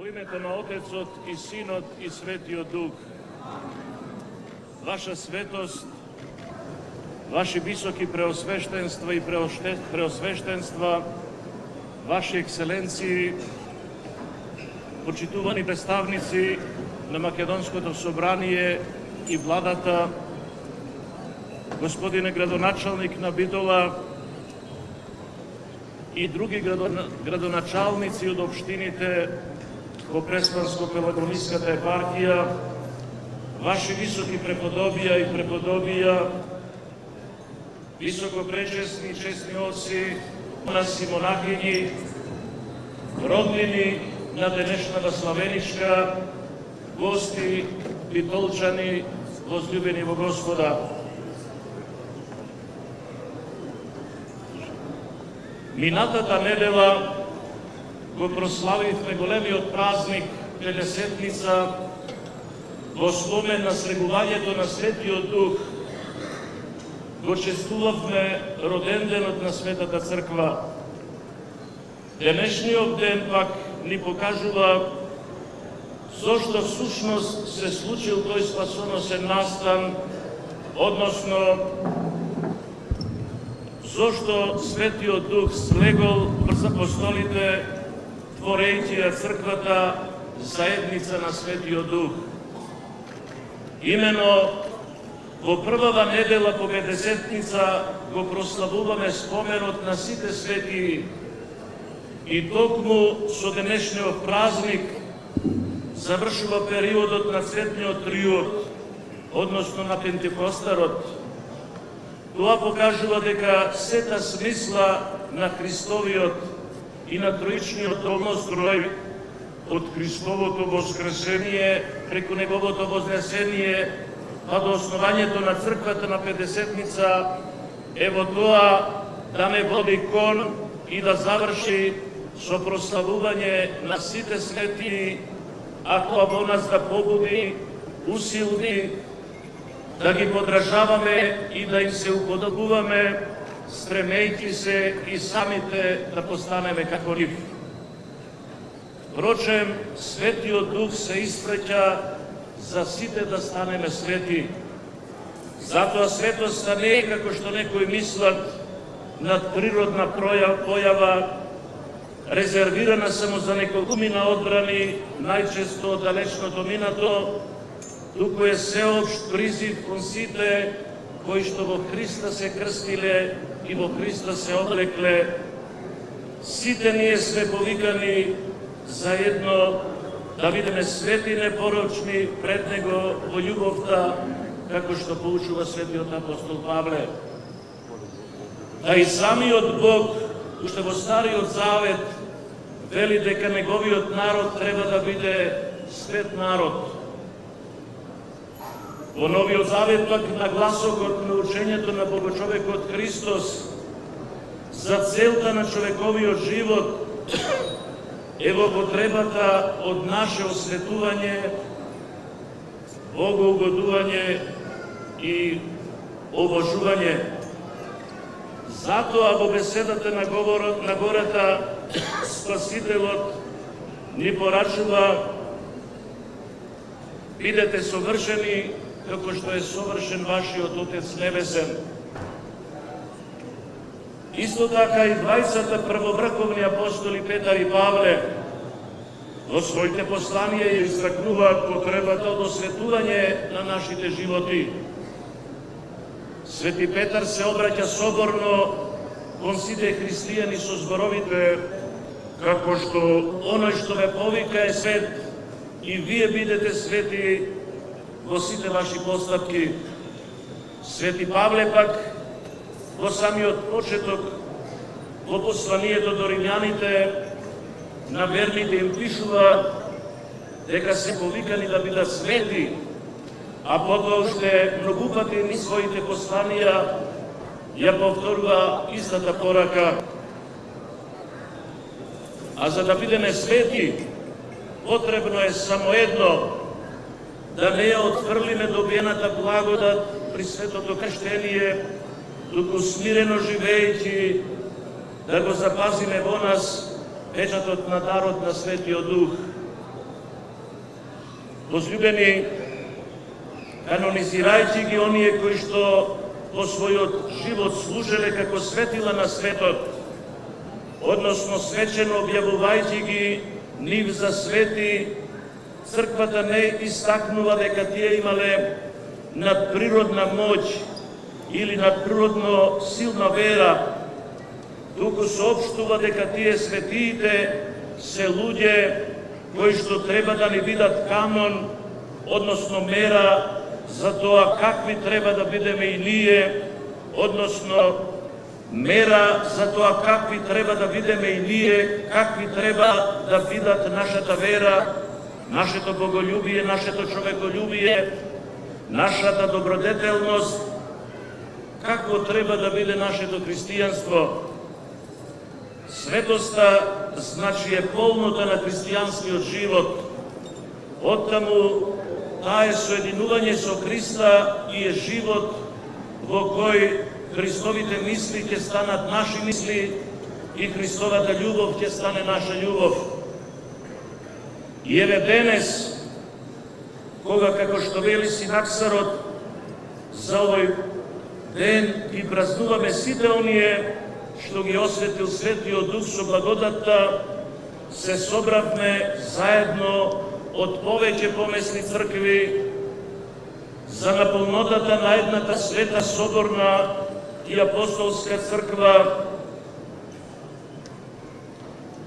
Во името на Отецот и Синот и Светиот Дух, Ваша светост, Ваши високи преосвещенства и преосвещенства, Ваши екселенции, почитувани представници на Македонското собрание и владата, господине градоначалник на Битола и други градоначалници од општините во Преспанско-Пелагониската епархија, Ваши високи преподобија и преподобија, високо пречесни и чесни оци, монаси, монахињи, роднини на денешната славеничка, гости, битолчани, возлюбени во Господа. Минатата недела го прославивме големиот празник Педесетница во спомен на слегувањето на Светиот Дух. Го честувавме роденденот на Светата Црква. Денешниот ден пак ни покажува зошто всушност се случил тој спасоносен настан, односно зошто Светиот Дух слегол врз апостолите, творејќи ја црквата заедница на Светиот Дух. Имено во првава недела по Педесетница го прославуваме споменот на сите светии и токму со денешниот празник завршува периодот на цветниот триод, односно на Пентекостарот. Тоа покажува дека сета смисла на Христовиот и на троичниот домострој од Христовото воскресение преку Неговото вознесение па до основањето на црквата на Педесетница е во тоа да не води кон и да заврши со прославување на сите светии, а тоа во нас да побуди, усилни, да ги подражаваме и да им се уподобуваме, стремејќи се и самите да постанеме како нив. Впрочем, Светиот Дух се испреќа за сите да станеме свети. Затоа светоста не е како што некои мислат надприродна појава, резервирана само за неколкумина одбрани, најчесто од далечното минато, туку е сеопшт призив кон сите кои што во Христа се крстиле и во Христа се облекле. Сите ние сме повикани заедно да бидеме свети непорочни пред Него во љубовта, како што поучува светиот апостол Павле. Да и самиот Бог, уште во Стариот Завет, вели дека Неговиот народ треба да биде свет народ. Во Новиот Завет пак на гласокот на учењето на Богочовекот Христос за целта на човековиот живот е во потребата од наше осветување, богоугодување и обожување. Затоа во беседата на гората Спасителот ни порачува: бидете совршени како што е совршен вашиот Отец Небесен. Исто така и двајцата првоврховни апостоли Петар и Павле во своите посланија ја истакнуваат потребата од осветување на нашите животи. Свети Петар се обраќа соборно кон сите христијани со зборовите: како што оној што ве повика е свет, и вие бидете свети во сите ваши постапки. Свети Павле пак во самиот почеток, во посланието до римјаните, на верните им пишува дека се повикани да бидат свети, а потоа уште многу пати низ своите посланија ја повторува истата порака. А за да бидеме свети, потребно е само едно: да не ја отфрлиме добиената благодат при светото крштение, туку смирено живејќи да го запазиме во нас печатот на дарот на Светиот Дух. Возлюбени, канонизирајќи ги оние кои што по својот живот служеле како светила на светот, односно свечено објавувајќи ги нив за свети, црквата не истакнува дека тие имале надприродна моќ или надприродно силна вера, туку соопштува дека тие светиите се луѓе кои што треба да ни бидат канон, односно мера за тоа какви треба да бидеме и ние, односно мера за тоа какви треба да бидеме и ние, какви треба да бидат нашата вера, нашето боголюбие, нашето човеколюбие, нашата добродетелност, какво треба да биде нашето христијанство. Светоста значи е полнота на христијанскиот живот. Оттаму таа е соединување со Христа и е живот во кој Христовите мисли ќе станат наши мисли и Христовата љубов ќе стане наша љубов. И еве денес, кога како што вели Синаксарот, за овој ден ги празнуваме сите оние што ги осветил Светиот Дух со благодатта, се собравме заедно од повеќе помесни цркви за наполнотата на едната света соборна и апостолска црква,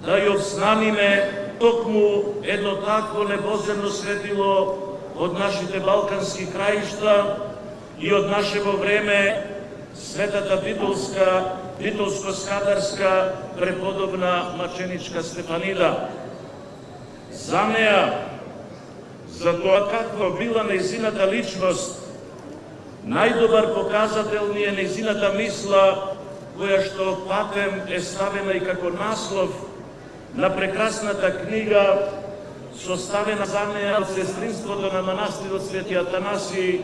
да ја обзнаниме токму едно такво небоземно светило од нашите балкански краишта и од нашево време, светата битолско-скадарска преподобна маченичка Стефанида. За неа, за тоа каква била нејзината личност, најдобар показател ни е нејзината мисла, која што патем е ставена и како наслов на прекрасната книга, составена за неа од сестринството на манастирот Свети Атанаси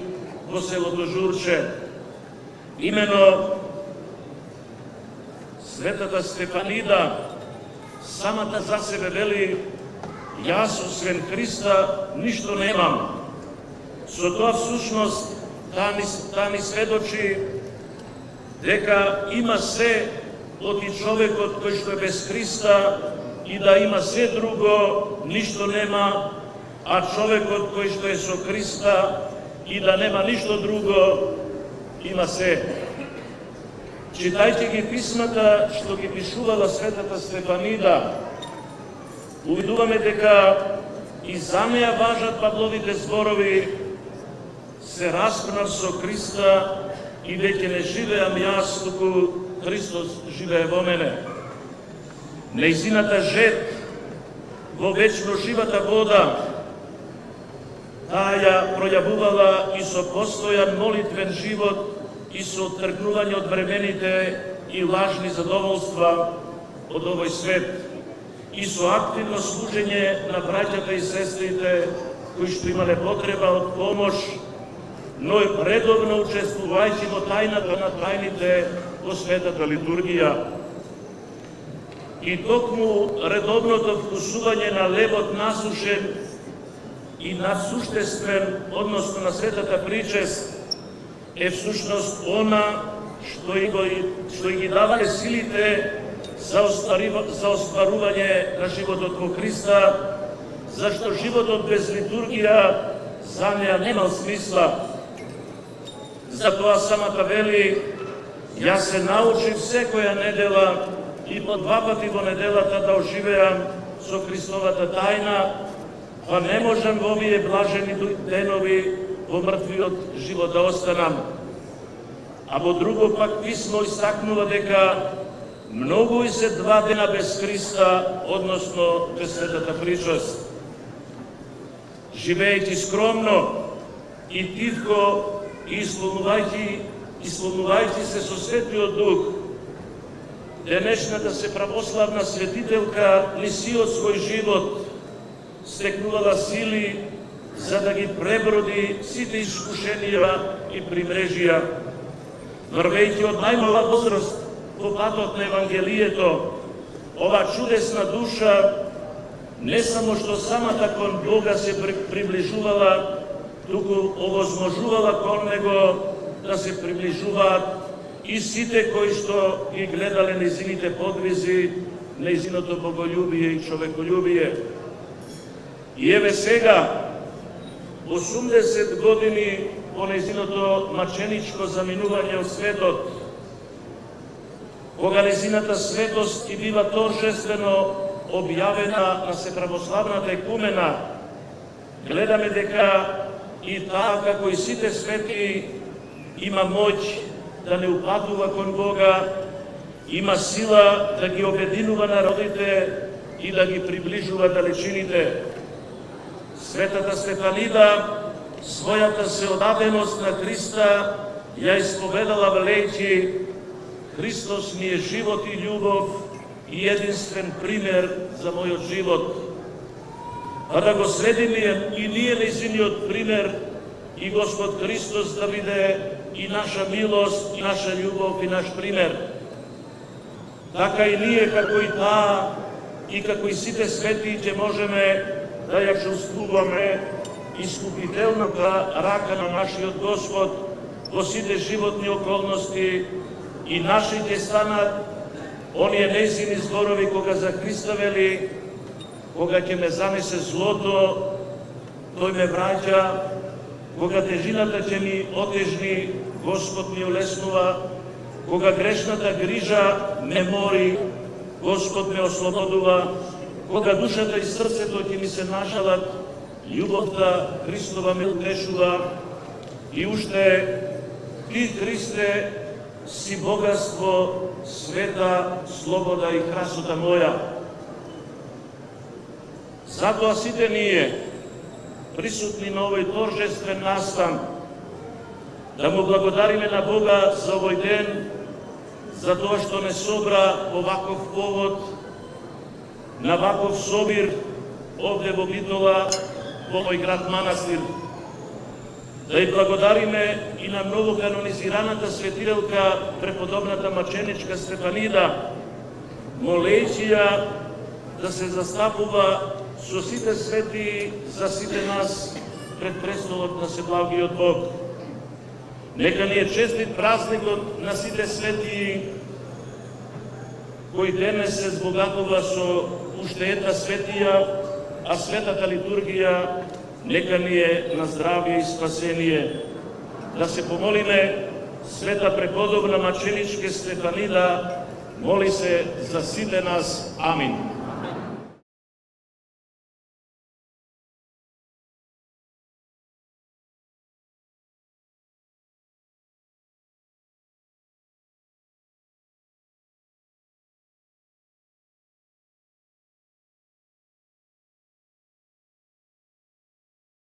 во селото Журче. Имено Светата Стефанида самата за себе вели: јас освен Христа ништо немам. Со тоа всушност таа ни сведочи дека има се оти човекот кој што е без Христа и да има се друго, ништо нема, а човекот кој што е со Христа и да нема ништо друго, има се. Читајќи ги писмата што ги пишувала Светата Стефанида, увидуваме дека и за неа важат Павловите зборови: се распнав со Христа и веќе не живеам јас, туку Христос живее во мене. Нејзината жет во вечно живата вода, таа ја пројавувала и со постојан молитвен живот и со тргнување од времените и лажни задоволства од овој свет, и со активно служење на браќата и сестрите кои што имале потреба од помош, но и редовно учествувајќи во тајната на тајните во светата литургија. И токму редовното вкусување на лебот насушен и надсуштествен, односно на светата причест, е всушност она што ги давале силите за остварување на животот во Христа, зашто животот без литургија за неа немал смисла. Затоа самата вели: јас се научив секоја недела и по 2 пати во неделата да оживеам со Христовата тајна, па не можам во овие блажени денови во мртвиот живот да останам. А во друго пак писмо истакнува дека многу и се 2 дена без Христа, односно без светата причест. Живејќи скромно и тивко и исполнувајќи се со Светиот Дух, денешната се православна светителка ни сиот свој живот стекнувала сили за да ги преброди сите искушенија и примрежија. Врвејќи од најмала возраст по патот на Евангелието, ова чудесна душа не само што самата кон Бога се приближувала, туку овозможувала кон Него да се приближуваат и сите кои што ги гледале нејзините подвизи, нејзиното боголюбие и човеколюбие. И еве сега, 80 години по нејзиното маченичко заминување од светот, кога нејзината светост и бива торжествено објавена на Сеправославната екумена, гледаме дека и таа, како и сите свети, има моќ да не упатува кон Бога, има сила да ги обединува народите и да ги приближува далечините. Светата Стефанида својата сеодаденост на Христа ја исповедала велејќи: Христос ми е живот и љубов и единствен пример за мојот живот. А да го следиме и ние нејзиниот пример и Господ Христос да биде и наша милост, и наша љубов, и наш пример. Така и ние, како и таа, и како и сите свети, ќе можеме да ја чувствуваме искупителната рака на нашиот Господ во сите животни околности и наши ќе станат оние нејзини зборови кога за Христа вели: кога ќе ме занесе злото, тој ме враќа, кога тежината ќе ми отежни, Господ ми улеснува, кога грешната грижа ме мори, Господ ме ослободува, кога душата и срцето ќе ми се нажалат, љубовта Христова ме утешува, и уште Ти, Христе, си богатство, света, слобода и красота моја. Затоа сите ние, присутни на овој торжествен настан, да му благодариме на Бога за овој ден, за тоа што не собра по ваков повод, на ваков собир, овде во Битола, во овој град манастир. Да и благодариме и на новоканонизираната светителка, преподобната маченичка Стефанида, молејќи ја да се застапува со сите свети за сите нас пред престолот на Себлагиот Бог. Нека ни е честит празникот на сите свети, кој денес се збогатува со уште една светија, а светата литургија нека ни е на здравие и спасение. Да се помолиме света преподобна маченичка Стефанида, моли се за сите нас. Амин.